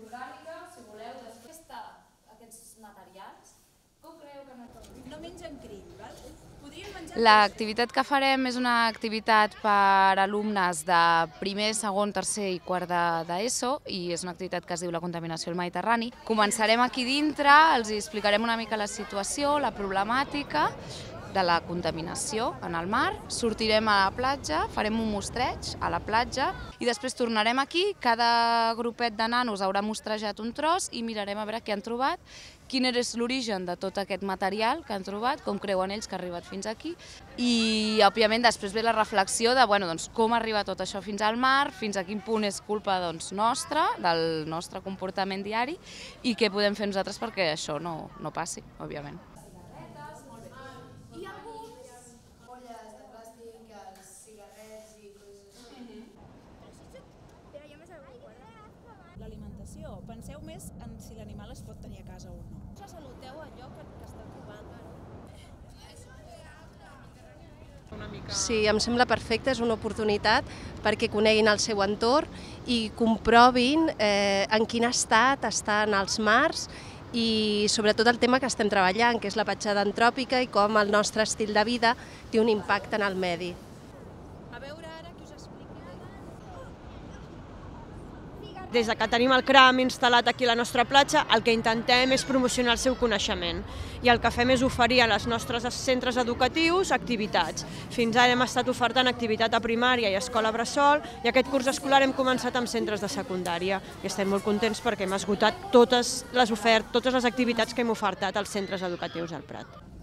orgànica, si voleu, després aquests materials, com creieu que no mengen krill, val? Podríem menjar... L'activitat que farem és una activitat per alumnes de primer, segon, tercer i quart d'ESO i és una activitat que es diu la contaminació al Mediterrani. Començarem aquí dintre, els explicarem una mica la situació, la problemàtica de la contaminació en el mar, sortirem a la platja, farem un mostreig a la platja i després tornarem aquí, cada grupet de nanos haurà mostrejat un tros i mirarem a veure què han trobat, quin és l'origen de tot aquest material que han trobat, com creuen ells que ha arribat fins aquí i, òbviament, després ve la reflexió de com arriba tot això fins al mar, fins a quin punt és culpa nostra, del nostre comportament diari i què podem fer nosaltres perquè això no passi, òbviament. L'alimentació. Penseu més en si l'animal es pot tenir a casa o no. Saluteu allò que esteu trobant. Sí, em sembla perfecte, és una oportunitat perquè coneguin el seu entorn i comprovin en quin estat estan els mars i sobretot el tema que estem treballant, que és la petjada antròpica i com el nostre estil de vida té un impacte en el medi. A veure ara que us expliqui. Des que tenim el CRAM instal·lat aquí a la nostra platja, el que intentem és promocionar el seu coneixement i el que fem és oferir als nostres centres educatius activitats. Fins ara hem estat ofertant activitat a primària i a escola bressol i aquest curs escolar hem començat amb centres de secundària i estem molt contents perquè hem esgotat totes les activitats que hem ofertat als centres educatius del Prat.